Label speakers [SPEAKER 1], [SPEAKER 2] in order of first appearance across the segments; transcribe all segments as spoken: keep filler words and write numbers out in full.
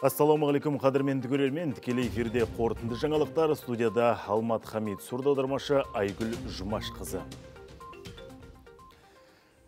[SPEAKER 1] Ассалаумағалейкум, қадірменді көрермен, тікелей эфирде қорытынды жаңалықтар, студияда Алмат Хамид, сурдаудармашы Айгүл Жұмаш қызы.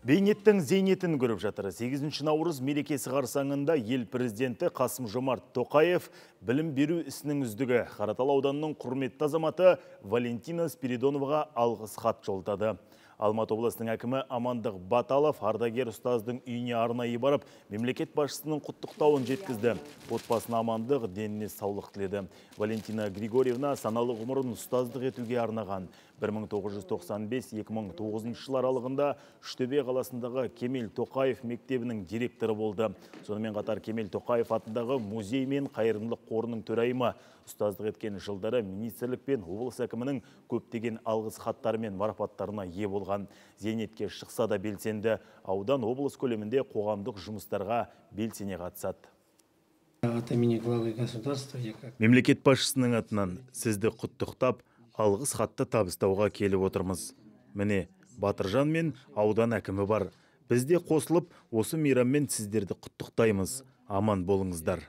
[SPEAKER 1] Бейнеттің зейнетін көріп жатыр. сегізінші наурыз мерекесі қарсаңында ел президенті Қасым-Жомарт Тоқаев білім беру ісінің үздігі Қаратал ауданының құрметті азаматы Валентина Спиридоноваға алғыс хат жолдады. Алматы облысының әкімі Амандық Баталов ардагер ұстаздың үйіне арнайы барып, мемлекет басшысының құттықтауын жеткізді. Отбасына амандық, деніне саулық тіледі. Валентина Григорьевна саналы ғұмырын ұстаздық етуге арнаған. бір мың тоғыз жүз тоқсан бес екі мың тоғызыншы жылдар аралығында Үштөбе қаласындағы Кемел Тоқаев мектебінің директоры болды. Сонымен қатар Кемел Тоқаев атындағы музей мен қайырымдылық қорының төрайымы. Ұстаздық еткен жылдары министрлік пен облыс әкімінің көптеген алғыс хаттары мен марапаттарына ие болған. Зейнетке шықса да белсенді, аудан облыс көлемінде қоғамдық жұмыстарға белсене қатысады. Мемлекет басшысының атынан сізді құттықтап, алғыс хатты табыстауға келіп отырмыз. Міне, Батыржан мен аудан әкімі бар. Бізде қосылып, осы мейраммен сіздерді құттықтаймыз. Аман болыңыздар.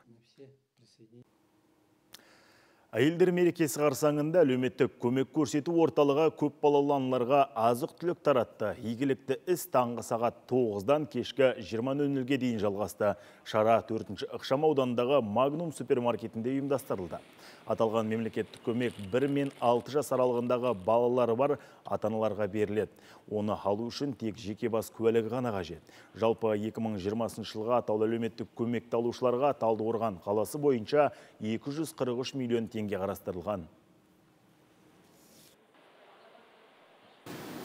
[SPEAKER 1] Әйелдер мерекесі қарсаңында әлеуметтік көмек көрсету орталығы көп балалы аналарға азық-түлік таратты. Игілікті іс таңғы сағат тоғыздан кешкі жиырма нөл нөлге дейін жалғасты. Шара төртінші ықшам ауданындағы Магнум супермаркетінде ұйымдастырылды. Аталған мемлекеттік көмек бір мен алты жас аралығындағы балалары бар ата-аналарға беріледі. Оны алу үшін тек жеке бас куәлігі ғана қажет. Жалпы екі мың жиырмасыншы жылға атаулы әлеуметтік көмекті алушыларға Талдықорған қаласы бойынша екі жүз қырық үш миллион теңге қарастырылған.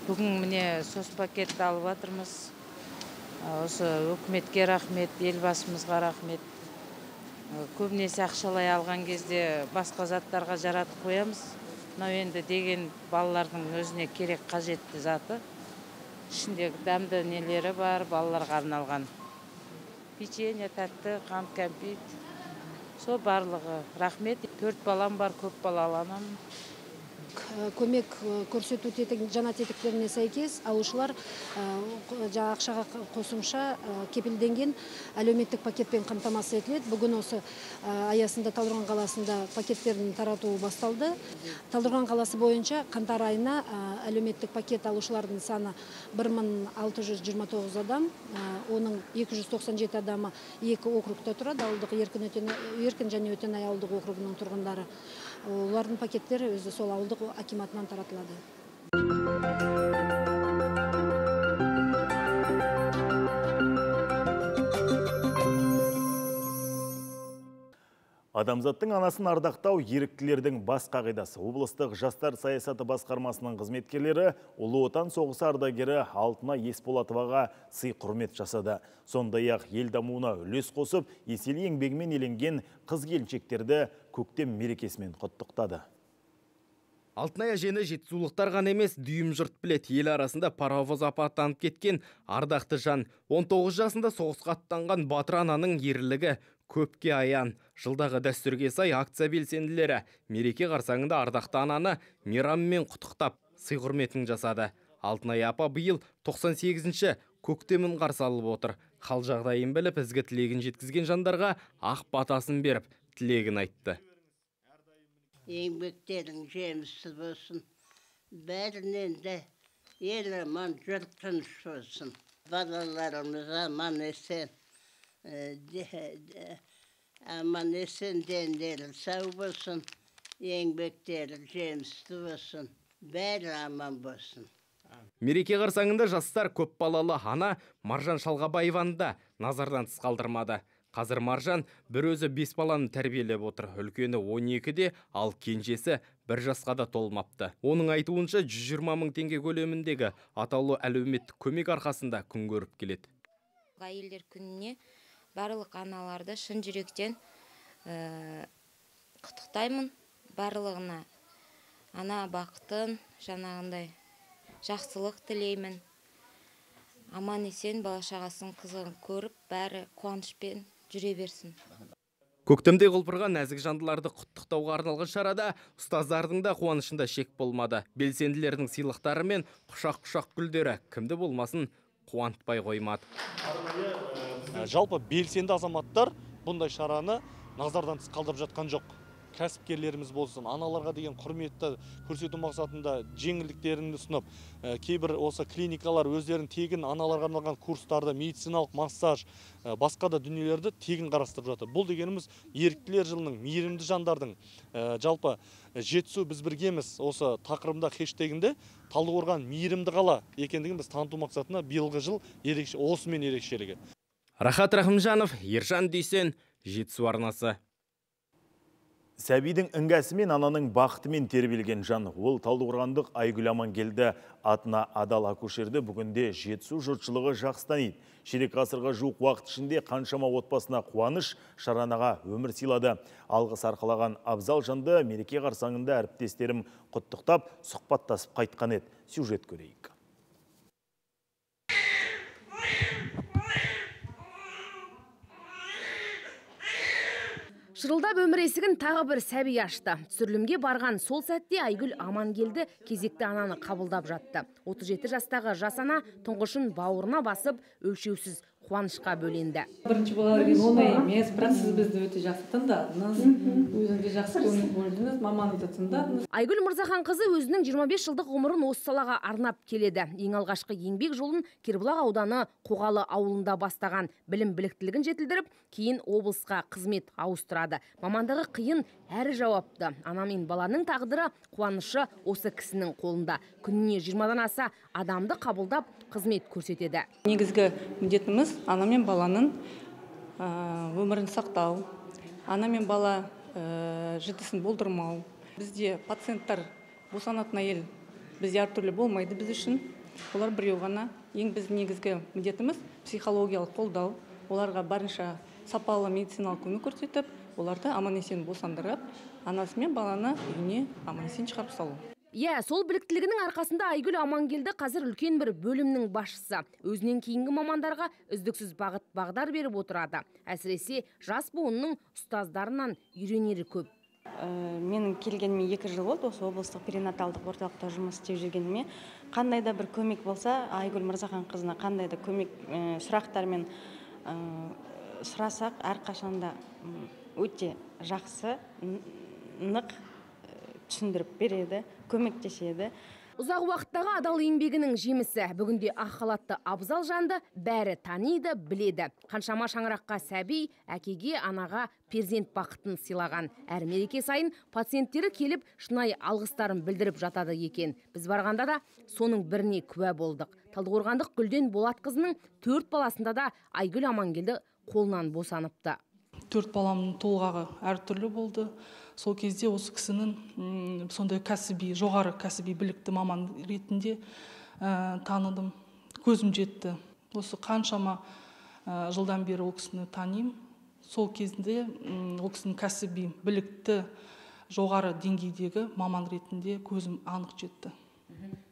[SPEAKER 2] Бүгін міне сос пакетті алып жатырмыз. Осы үкіметке рахмет, елбасымызға рахмет. Көбінесе ақшалай алған кезде басқа заттарға жаратып қоямыз. Мынау енді деген балалардың өзіне керек қажетті заты. Ішіндегі дәмді нелері бар, балаларға арналған. Печенье, тәтті, қант, кәмпит. Сол барлығы рахмет. Төрт балам бар, көп балалы анамын.
[SPEAKER 3] Көмек көрсету жаңа тетіктеріне сәйкес алушылар ақшаға қосымша кепілденген әлеуметтік пакетпен қамтамасыз етіледі. Бүгін осы аясында Талдықорған қаласында пакеттердің таратуы басталды. Талдықорған қаласы бойынша қаңтар айына әлеуметтік пакет алушылардың саны бір мың алты жүз жиырма тоғыз адам, оның екі жүз тоқсан жеті адамы екі округта тұрады, ауылдық еркін және Өтенай ауылдық округының тұрғындары. Олардың пакеттері өзі сол ауылдық акиматынан таратылады.
[SPEAKER 1] Адамзаттың анасын ардақтау еріктілердің бас қағидасы. Облыстық жастар саясаты басқармасының қызметкерлері Ұлы Отан соғысы ардагері Алтына Есболатоваға сый құрмет жасады. Сондай-ақ ел дамуына үлес қосып, еселі еңбегімен еленген қыз-келіншектерді көктем мерекесімен құттықтады.
[SPEAKER 4] Алтынай әжені жетісулықтар ғана емес, дүйім жұрт білет. Ел арасында паровоз апаттанып кеткен ардақты жан. он тоғыз жасында соғысқа аттанған Батыр ананың ерлігі көпке аян. Жылдағы дәстүрге сай акция белсенділері мереке қарсаңында ардақты ананы мейраммен құттықтап, сый құрметін жасады. Алтынай апа биыл тоқсан сегізінші көктемін қарсы алып отыр. Хал жағдайын біліп, ізгі тілегін жеткізген жандарға ақ батасын беріп, тілегін айтты.
[SPEAKER 5] Еңбектерің жемісі болсын. Бәрінен де ел аман, жұрт тыныш болсын. Балаларымыз аман есен. Аман есен дендері сау болсын. Еңбектері жемісі болсын. Бәрі аман болсын.
[SPEAKER 4] Мереке қарсаңында жастар көп балалы ана Маржан Шалғабаеваны да назардан тыс қалдырмады. Қазір Маржан бір өзі бес баланы тәрбиелеп отыр. Үлкені он екіде, ал кенжесі бір жасқа да толмапты. Оның айтуынша жүз жиырма мың теңге көлеміндегі атаулы әлеуметтік көмек арқасында күн көріп келеді.
[SPEAKER 6] Әйелдер күніне барлық аналарды шын жүректен құттықтаймын. Барлығына ана бақытын, жаңағындай жақсылық тілеймін. Аман есен бала-шағасын қызығын көріп, бәрі қуанышпен жүре берсін.
[SPEAKER 4] Көктемде құлпырған нәзік жандыларды құттықтауға арналған шарада ұстаздардың да қуанышында шек болмады. Белсенділердің сыйлықтары мен құшақ-құшақ гүлдері кімді болмасын қуантпай қоймады.
[SPEAKER 7] Жалпы белсенді азаматтар бұндай шараны назардан тыс қалдырып жатқан жоқ. Кәсіпкерлеріміз болсын, аналарға деген құрметті көрсету мақсатында жеңілдіктерін ұсынып, кейбір осы клиникалар өздерін тегін аналарға арналған курстарды, медициналық массаж, басқа да дүниелерді тегін қарастырып жатыр. Бұл дегеніміз еріктілер жылының, мейірімді жандардың, жалпы жетісу біз біргеміз осы тақырыбында хэштегінде Талдықорған мейірімді қала екендігін біз таныту мақсатында биылғы жыл ерекше, осымен ерекшелігі.
[SPEAKER 4] Рахат Рахымжанов, Ержан Дүйсен, Жетісу арнасы.
[SPEAKER 1] Сәбидің іңгәсі мен ананың бақытымен тербелген жан. Ол Талдықорғандық Айгүл Амангелді атына адал акушерді бүгінде Жетісу жұртшылығы жақсы таниды. Ширек ғасырға жуық уақыт ішінде қаншама отбасына қуаныш, шаранаға өмір сыйлады. Алғыс арқалаған абзал жанды мереке қарсаңында әріптестерім құттықтап, сұхбаттасып қайтқан еді. Сюжет көрейік.
[SPEAKER 8] Шырылдап өмір есігін тағы бір сәби ашты. Түсірілімге барған сол сәтте Айгүл Амангелді кезекті ананы қабылдап жатты. отыз жеті жастағы жас ана тұңғышын бауырына басып, өлшеусіз қуанышқа бөленді.
[SPEAKER 9] Бірінші болған оңай емес, бірақ сіз бізді өте жақсы тыңдадыңыз. Өзіңізге жақсы көңіл бөлдіңіз, мамаңызды тыңдадыңыз.
[SPEAKER 8] Айгүл Мырзахан қызы өзінің жиырма бес жылдық ғұмырын осы салаға арнап келеді. Ең алғашқы еңбек жолын Кербұлақ ауданы Қоғалы ауылында бастаған, білім біліктілігін жетілдіріп, кейін облысқа қызмет ауыстырады. Мамандығы қиын, әрі жауапты. Ана мен баланың тағдыры, қуанышы осы кісінің қолында. Күніне жиырмадан аса адамды қабылдап қызмет көрсетеді.
[SPEAKER 9] Негізгі міндетіміз ана мен баланың өмірін сақтау, ана мен бала жітісін болдырмау. Бізде пациенттар босанатын әйел бізде әртүрлі болмайды біз үшін. Олар біреу ғана. Ең біз негізгі міндетіміз психологиялық қолдау. Оларға барынша сапалы медициналық көмек көрсетіп, оларды аман-есен босандырып, анасы мен баланы үйіне аман-есен шығарып салу.
[SPEAKER 8] Иә, сол біліктілігінің арқасында Айгүл Амангелді қазір үлкен бір бөлімнің басшысы. Өзінен кейінгі мамандарға үздіксіз бағыт бағдар беріп отырады. Әсіресе жас буынның ұстаздарынан үйренері көп.
[SPEAKER 10] Менің келгеніме екі жыл болды, осы облыстық перинаталдық орталықта жұмыс істеп жүргеніме. Қандай да бір көмек болса, Айгүл Мырзахан қызына қандай да көмек сұрақтармен сұрасақ, әрқашанда өте жақсы, нық түсіндіріп береді, көмектеседі.
[SPEAKER 8] Ұзақ уақыттағы адал еңбегінің жемісі. Бүгінде ақ халатты абзал жанды бәрі таниды, біледі. Қаншама шаңыраққа сәби, әкеге, анаға перзент бақытын сыйлаған. Әр мереке сайын пациенттері келіп, шынайы алғыстарын білдіріп жатады екен. Біз барғанда да соның біріне куә болдық. Талдықорғандық Гүлден Болатқызының төрт баласында да Айгүл Амангелді қолынан босаныпты.
[SPEAKER 9] Төрт баламның толғағы әртүрлі болды. Сол кезде осы кісінің сондай кәсіби, жоғары кәсіби білікті маман ретінде таныдым, көзім жетті. Осы қаншама жылдан бері ол кісіні танимын. Сол кезінде ол кісінің кәсіби білікті, жоғары деңгейдегі маман ретінде көзім анық жетті.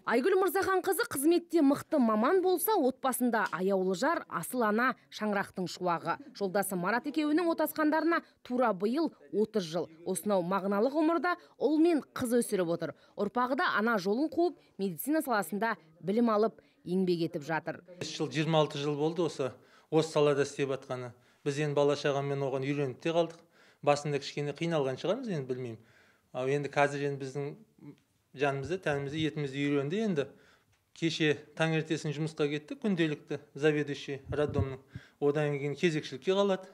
[SPEAKER 8] Айгүл Мырзахан қызы қызметте мықты маман болса, отбасында аяулы жар, асыл ана, шаңырақтың шуағы. Жолдасы Марат екеуінің отасқандарына тура биыл отыз жыл. Осынау мағыналы ғұмырда ұл мен қыз өсіріп отыр. Ұрпағы да ана жолын қуып, медицина саласында білім алып, еңбек етіп жатыр.
[SPEAKER 11] жиырма алты жыл болды осы осы салада істеп жатқаны. Біз енді бала шағамен оған үйреніп те қалдық. Басында кішкене қиналған шығармыз, енді білмеймін. Ал енді қазір енді біздің жанымызды, тәнімізді, етімізді үйренді енді. Кеше таңертесін жұмысқа кетті, күнделікті заведующий роддомның. Одан кейін кезекшілікке қалады.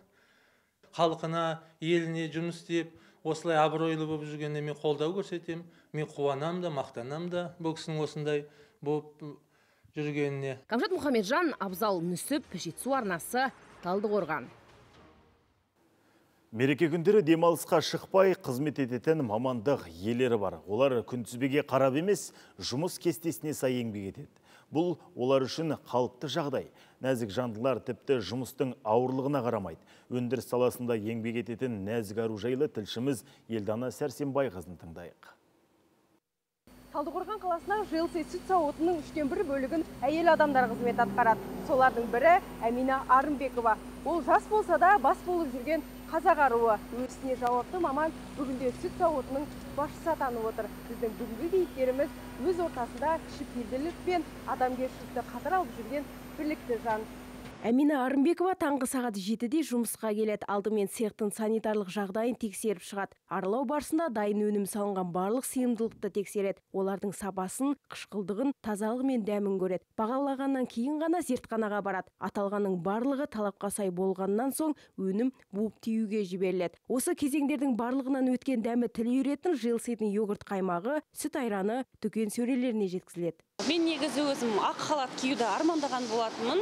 [SPEAKER 11] Халқына, еліне жұмыс істеп, осылай абыройлы болып жүргенде мен қолдау көрсетемін. Мен қуанам да, мақтанам да бұл кісінің осындай болып жүргеніне.
[SPEAKER 8] Қамшат Мұхамеджан, Абзал Нүсіп, Жетісу арнасы, Талдықорған.
[SPEAKER 1] Мереке күндері демалысқа шықпай қызмет ететін мамандық иелері бар. Олар күнтізбеге қарап емес, жұмыс кестесіне сай еңбек етеді. Бұл олар үшін қалыпты жағдай. Нәзік жандылар тіпті жұмыстың ауырлығына қарамайды. Өндіріс саласында еңбек ететін нәзік ару жайлы тілшіміз Елдана Сәрсенбайқызын тыңдайық.
[SPEAKER 12] Талдықорған қаласына ЖЛС сүт зауытының үштен бір бөлігін әйел адамдар қызмет атқарады. Солардың бірі Әмина Арымбекова. Ол жас болса да бас болып жүрген қазақ аруы. Өсіне жауапты маман бүгінде сүт зауытының басшысы атанып отыр. Біздің бүгінгі кейіпкеріміз өз ортасында кішіпейілділік пен адамгершілікті қатар алып жүрген бірлікті жан.
[SPEAKER 8] Әмина Арымбекова таңғы сағат жетіде жұмысқа келеді. Алдымен цехтың санитарлық жағдайын тексеріп шығады. Аралау барысында дайын өнім салынған барлық сыйымдылықты тексереді. Олардың сапасын, қышқылдығын, тазалығы мен дәмін көреді. Бағалағаннан кейін ғана зертханаға барады. Аталғанның барлығы талапқа сай болғаннан соң өнім буып тиюге жіберіледі. Осы кезеңдердің барлығынан өткен дәмі тіл үйіретін жилсайдың йогурт қаймағы, сүт айраны дүкен сөрелеріне жеткізіледі.
[SPEAKER 13] Мен негізі өзім ақ халат киюді армандаған болатынмын.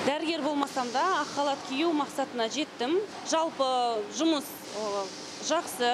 [SPEAKER 13] Дәрігер болмасам да ақ халат кию мақсатына жеттім. Жалпы жұмыс жақсы,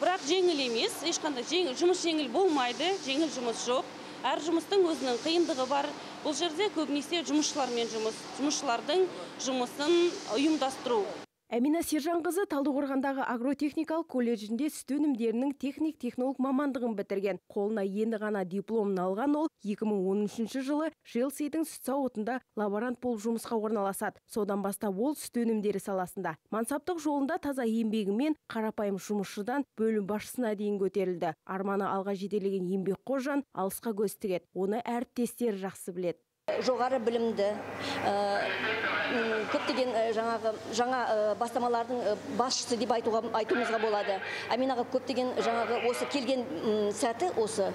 [SPEAKER 13] бірақ жеңіл емес. Ешқандай жұмыс жеңіл болмайды, жеңіл жұмыс жоқ. Әр жұмыстың өзінің қиындығы бар. Бұл жерде көбінесе жұмысшылармен жұмыс, жұмысшылардың жұмысын ұйымдастыру.
[SPEAKER 8] Әмина Сержанқызы Талдықорғандағы агротехникалық колледжінде сүт өнімдерінің техник-технолог мамандығын бітірген. Қолына енді ғана дипломын алған ол екі мың он үшінші жылы Жилсайдың сүт зауытында лаборант болып жұмысқа орналасады. Содан бастап ол сүт өнімдері саласында. Мансаптық жолында таза еңбегімен қарапайым жұмысшыдан бөлім басшысына дейін көтерілді. Арманы алға жетелеген еңбекқор жан алысқа көз тігеді. Оны әріптестері жақсы біледі.
[SPEAKER 14] Жоғары білімді, көптеген жаңағы жаңа бастамалардың басшысы деп айтуға айтуымызға болады. Аминаға көптеген жаңағы осы келген сәті осы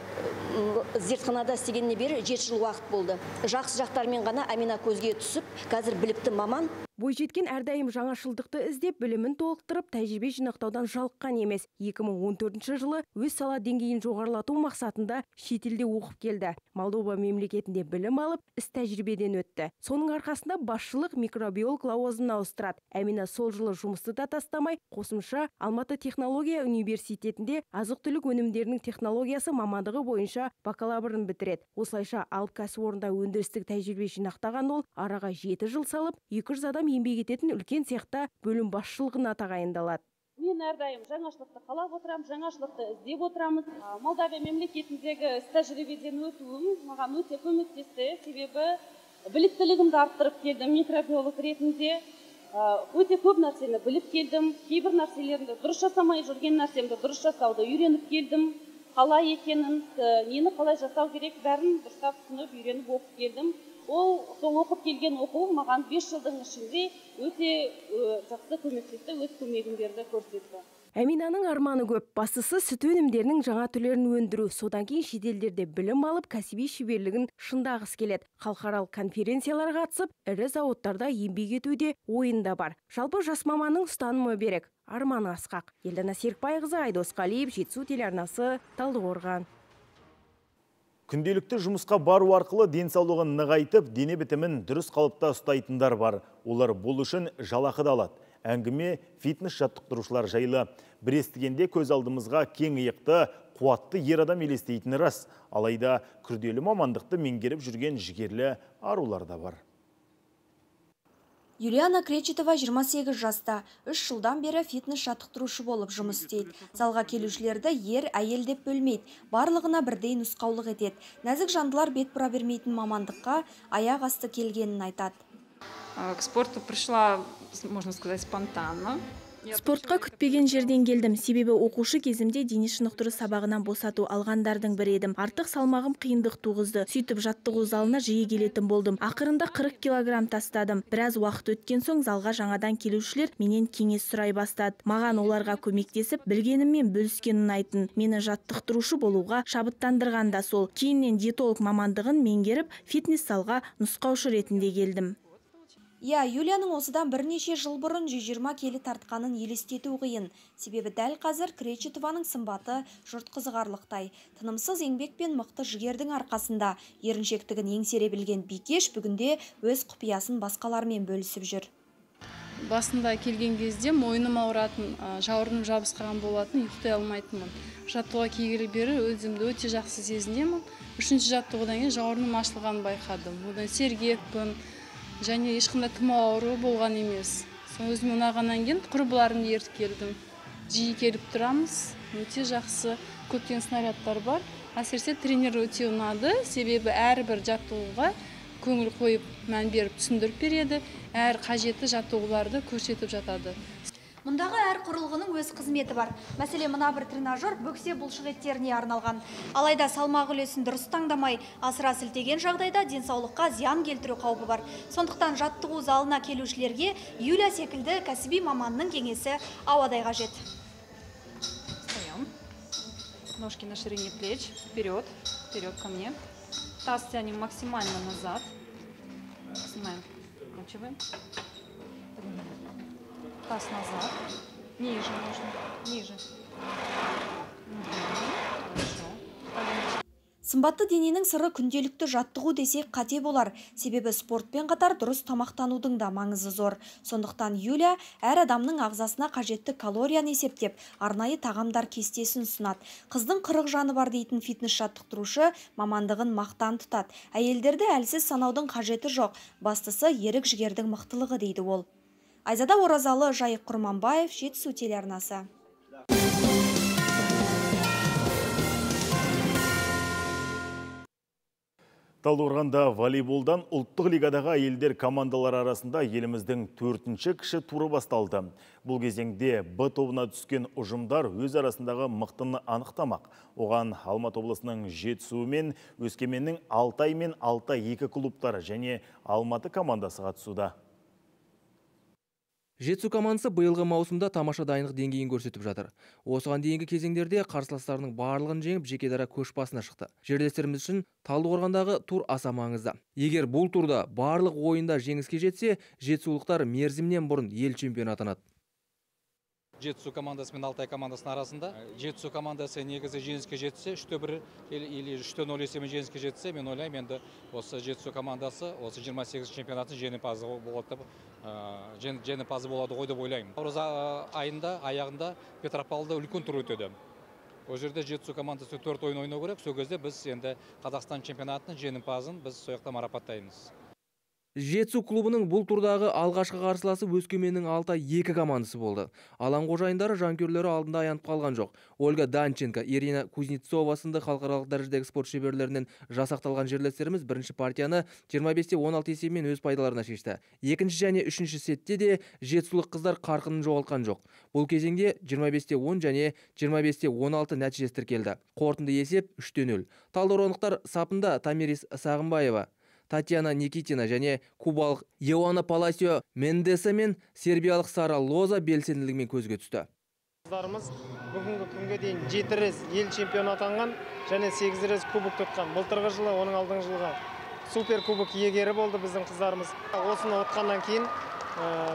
[SPEAKER 14] зертханада істегеніне бері жеті жыл уақыт болды. Жақсы жақтармен ғана Амина көзге түсіп, қазір білікті маман.
[SPEAKER 8] Бойжеткен әрдайым жаңашылдықты іздеп, білімін толықтырып, тәжірибе жинақтаудан жалыққан емес. екі мың он төртінші жылы өз сала деңгейін жоғарылату мақсатында шетелде оқып келді. Молдова мемлекетінде білім алып, іс тәжірибеден өтті. Соның арқасында басшылық микробиолог лауазымына ауыстырады. Әмина сол жылы жұмысты да тастамай, қосымша Алматы технология университетінде азық-түлік өнімдерінің технологиясы мамандығы бойынша бакалаврын бітіреді. Осылайша алып кәсіпорында өндірістік тәжірибе жинақтаған ол араға жеті жыл салып, екі жүз адам еңбек ететін үлкен цехта бөлім басшылығына тағайындалады.
[SPEAKER 13] Мен әрдайым жаңашылықты қалап отырам, жаңашылықты іздеп отырамыз. Молдавия мемлекетіндегі іс тәжірибеден өтуім маған өте көмектесті. Себебі біліктілігімді арттырып келдім микробиолог ретінде. Өте көп нәрсені біліп келдім. Кейбір нәрселерді дұрыс жасамай жүрген нәрсемді дұрыс жасауды үйреніп келдім. Қалай екенін, нені қалай жасау керек, бәрін дұрыстап түсініп, үйреніп оқып келдім. Ол сол оқып келген оқу маған бес жылдың ішінде өте жақсы көмектесті, өз көмегін берді, көрсетті.
[SPEAKER 8] Әминаның арманы көп. Бастысы сүт өнімдерінің жаңа түрлерін өндіру. Содан кейін шетелдерде білім алып, кәсіби шеберлігін шыңдағысы келеді. Халықаралық конференцияларға қатысып, ірі зауыттарда еңбек етуде ойында бар. Жалпы жас маманның ұстанымы берік, арманы асқақ. Елдана Серікбайқызы, Айдос Қалиев, Жетісу телеарнасы, Талдықорған.
[SPEAKER 1] Күнделікті жұмысқа бару арқылы денсаулығын нығайтып, дене бітімін дұрыс қалыпта ұстайтындар бар. Олар бұл үшін жалақы да алады. Әңгіме фитнес жаттықтырушылар жайлы. Бір естігенде көз алдымызға кең иықты, қуатты ер адам елестейтіні рас. Алайда күрделі мамандықты меңгеріп жүрген жігерлі арулар да бар.
[SPEAKER 15] Юлиана Кречетова жиырма сегіз жаста, үш жылдан бері фитнес жаттықтырушы болып жұмыс істейді. Залға келушілерді ер, әйел деп бөлмейді, барлығына бірдей нұсқаулық етеді. Нәзік жандылар бет бұра бермейтін мамандыққа аяқ асты келгенін айтады.
[SPEAKER 16] К спорту пришла, можно сказать, спонтанно.
[SPEAKER 17] Спортқа күтпеген жерден келдім, себебі оқушы кезімде дене шынықтыру сабағынан босату алғандардың бірі едім. Артық салмағым қиындық туғызды. Сөйтіп жаттығу залына жиі келетін болдым. Ақырында қырық килограмм тастадым. Біраз уақыт өткен соң залға жаңадан келушілер менен кеңес сұрай бастады. Маған оларға көмектесіп, білгеніммен бөліскен ұнайтын. Мені жаттықтырушы болуға шабыттандырған да сол. Кейіннен диетолог мамандығын меңгеріп, фитнес залға нұсқаушы ретінде келдім.
[SPEAKER 15] Я, Юлияның осыдан бірнеше жыл бұрын жүз жиырма келі тартқанын елестету қиын. Себебі дәл қазір Кречетованың сымбаты жұрт қызығарлықтай. Тынымсыз еңбек пен мықты жігердің арқасында еріншектігін еңсере білген Бикеш бүгінде өз құпиясын басқалармен бөлісіп жүр.
[SPEAKER 18] Басында келген кезде мойным ауыратын, жауырыным жабысқан болатын, ұйықтай алмайтынмын. Жаттығуға келгелі бері өзімді өте жақсы сезінемін. Үшінші жаттығудан кейін жауырыным ашылғанын байқадым. Одан сергекпін. Және ешқандай тұмау ауруы болған емес. Соң өзім ұнағаннан кейін құрбыларымды ертіп келдім. Жиі келіп тұрамыз, өте жақсы. Көптеген снарядтар бар. Әсіресе тренер өте ұнады, себебі әрбір жаттығуға көңіл қойып, мән беріп түсіндіріп береді. Әр қажетті жаттығуларды көрсетіп жатады.
[SPEAKER 15] Мұндағы әр құрылғының өз қызметі бар. Мәселе мына бір тренажер бөксе бұлшық еттеріне арналған. Алайда салмақ үлесін дұрыс таңдамай, асыра сілтеген жағдайда денсаулыққа зиян келтіру қаупі бар. Сондықтан жаттығу залына келушілерге Юля секілді кәсіби маманның кеңесі ауадай қажет.
[SPEAKER 16] Встаем. Ножки на ширине плеч. Вперед. Вперед ко мне. Таз тянем максимально назад. Снимаем. Мочевым. Таз назад. Ниже нужно. Ниже. Хорошо.
[SPEAKER 15] Сымбатты дененің сыры күнделікті жаттығу десек қате болар. Себебі спортпен қатар дұрыс тамақтанудың да маңызы зор. Сондықтан Юля әр адамның ағзасына қажетті калорияны есептеп, арнайы тағамдар кестесін ұсынады. Қыздың қырық жаны бар дейтін фитнес жаттықтырушы мамандығын мақтан тұтады. Әйелдерді әлсіз санаудың қажеті жоқ. Бастысы ерік жігердің мықтылығы дейді ол. Айзада Оразалы, Жайық Құрманбаев, Жетісу телеарнасы.
[SPEAKER 1] Талдықорғанда волейболдан ұлттық лигадағы әйелдер командалар арасында еліміздің төртінші кіші туры басталды. Бұл кезеңде Б тобына түскен ұжымдар өз арасындағы мықтыны анықтамақ. Оған Алматы облысының Жетісу мен Өскеменнің Алтай мен Алтай екі клубтары және Алматы командасы қатысуда.
[SPEAKER 4] Жетісу командасы биылғы маусымда тамаша дайындық деңгейін көрсетіп жатыр. Осыған дейінгі кезеңдерде қарсыластарының барлығын жеңіп, жеке дара көш басына шықты. Жерлестеріміз үшін Талдықорғандағы тур аса маңызды. Егер бұл турда барлық ойында жеңіске жетсе, жетісулықтар мерзімнен бұрын ел чемпионы атанады.
[SPEAKER 19] Жетісу командасы мен Алтай командасының арасында. Жетісу командасы негізі жеңіске жетсе, үште бір или үште нөл есебімен жеңіске жетсе, мен ойлаймын, енді осы Жетісу командасы осы жиырма сегізінші чемпионаттың жеңімпазы болады, жеңімпазы болады ғой деп ойлаймын. Наурыз айында аяғында Петропавлда үлкен тур өтеді. Ол жерде Жетісу командасы төрт ойын ойнау керек. Сол кезде біз енді Қазақстан чемпионатының жеңімпазын біз сол жақта марапаттаймыз.
[SPEAKER 4] Жетісу клубының бұл турдағы алғашқы қарсыласы Өскеменнің Алтай екі командасы болды. Алаң қожайындары жанкүйерлері алдында аянып қалған жоқ. Ольга Данченко, Ирина Кузнецова сынды халықаралық дәрежедегі спорт шеберлерінен жасақталған жерлестеріміз бірінші партияны жиырма бесте он алты есебімен өз пайдаларына шешті. Екінші және үшінші сетте де жетісулық қыздар қарқынын жоғалтқан жоқ. Бұл кезеңде жиырма бесте он және жиырма бесте он алты нәтижесі тіркелді. Қорытынды есеп үште нөл. Талдықорғандықтар сапында Тамирис Сағымбаева, Татьяна Никитина және кубалық Еуана Паласио Мендеса мен сербиялық Сара Лоза белсенділігімен көзге түсті.
[SPEAKER 20] Қыздарымыз бүгінгі күнге дейін жеті рет ел чемпионы атанған және сегіз рет кубок тұтқан. Былтырғы жылы, оның алдыңғы жылға супер кубок иегері болды біздің қыздарымыз. Осыны отқаннан кейін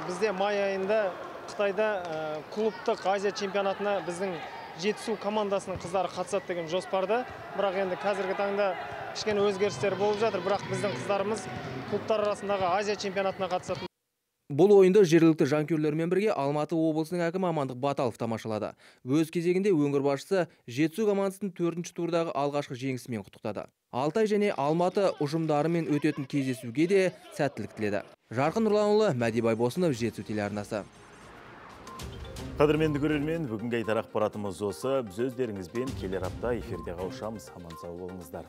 [SPEAKER 20] бізде май айында Қытайда клубтық Азия чемпионатына біздің Жетісу командасының қыздары қатысады деген жоспарда. Бірақ енді қазіргі таңда кішкене өзгерістер болып жатыр, бірақ біздің қыздарымыз клубтар арасындағы Азия чемпионатына қатысады.
[SPEAKER 4] Бұл ойынды жергілікті жанкүйерлермен бірге Алматы облысының әкімі Амандық Баталов тамашалады. Өз кезегінде өңір басшысы Жетісу командасының төртінші турдағы алғашқы жеңісімен құттықтады. Алтай және Алматы ұжымдарымен өтетін кездесуге де сәттілік тіледі. Жарқын Нұрланұлы, Мәди Байбосынов, Жетісу телеарнасы.
[SPEAKER 1] Қадірменді көрермен, бүгінгі айтар ақпаратымыз осы. Біз өздеріңізбен келер апта эфирде қауышамыз. Аман сау болыңыздар.